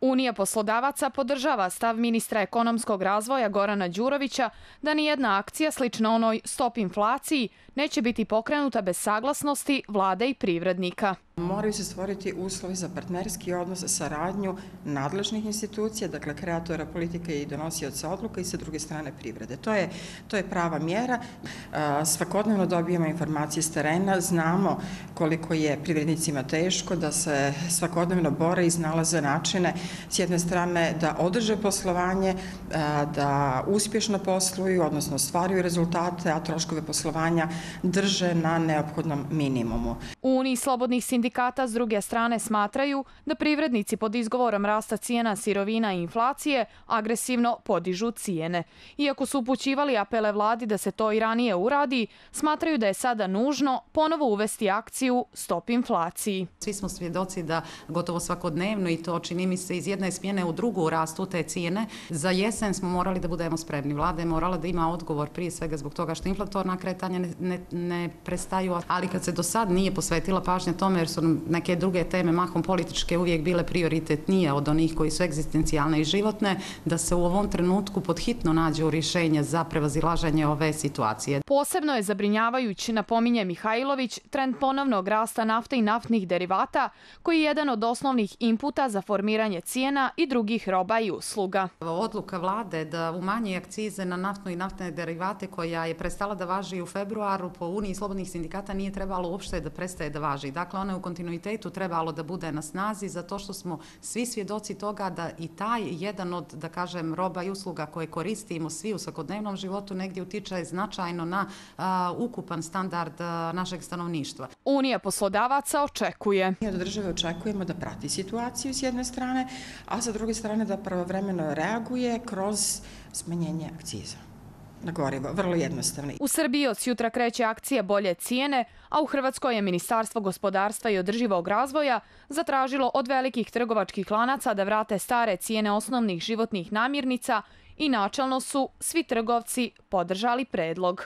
Unija poslodavaca podržava stav ministra ekonomskog razvoja Gorana Đurovića da nijedna akcija slična onoj Stop inflaciji neće biti pokrenuta bez saglasnosti vlade i privrednika. Moraju se stvoriti uslovi za partnerski odnos, saradnju nadležnih institucija, dakle kreatora politike i donosioca odluka i sa druge strane privrede. To je prava mjera. Svakodnevno dobijemo informacije s terena, znamo koliko je privrednicima teško, da se svakodnevno bore i iznalaze načine s jedne strane da održe poslovanje, da uspješno posluju, odnosno ostvaruju rezultate, a troškove poslovanja drže na neophodnom minimumu. U Uniji slobodnih sindikata s druge strane smatraju da privrednici pod izgovorom rasta cijena sirovina i inflacije agresivno podižu cijene. Iako su upućivali apele vladi da se to i ranije uradi, smatraju da je sada nužno ponovo uvesti akciju Stop inflaciji. Svi smo svjedoci da gotovo svakodnevno, i to čini mi se iz jedne smjene u drugu, rastu te cijene. Za jesen smo morali da budemo spremni. Vlada je morala da ima odgovor prije svega zbog toga što inflatorna kretanja ne prestaju, ali kad se do sad nije posvetila pažnja tome, jer su neke druge teme, mahom političke, uvijek bile prioritetnije od onih koji su egzistencijalne i životne, da se u ovom trenutku podhitno nađu rješenja za prevazilaženje ove situacije. Posebno je zabrinjavajući, napominje Mihajlović, trend ponovnog rasta nafte i naftnih derivata, koji je jedan od osnovnih inputa za formiranje cijena i drugih roba i usluga. Odluka vlade da umanji akcize na naftnu i naftne derivate, koja je prestala da važi u februaru, po Uniji slobodnih sindikata nije trebalo uopšte da prestaje da važi. Dakle, ona je u kontinuitetu trebalo da bude na snazi, zato što smo svi svjedoci toga da i taj jedan od, da kažem, roba i usluga koje koristimo svi u svakodnevnom životu negdje utiče značajno na ukupan standard našeg stanovništva. Unija poslodavaca očekuje. Mi od države očekujemo da prati situaciju s jedne strane, a sa druge strane da pravovremeno reaguje kroz smanjenje akciza na gorivo, vrlo jednostavno. U Srbiji od sutra kreće akcija Bolje cijene, a u Hrvatskoj je Ministarstvo gospodarstva i održivog razvoja zatražilo od velikih trgovačkih lanaca da vrate stare cijene osnovnih životnih namirnica i načelno su svi trgovci podržali predlog.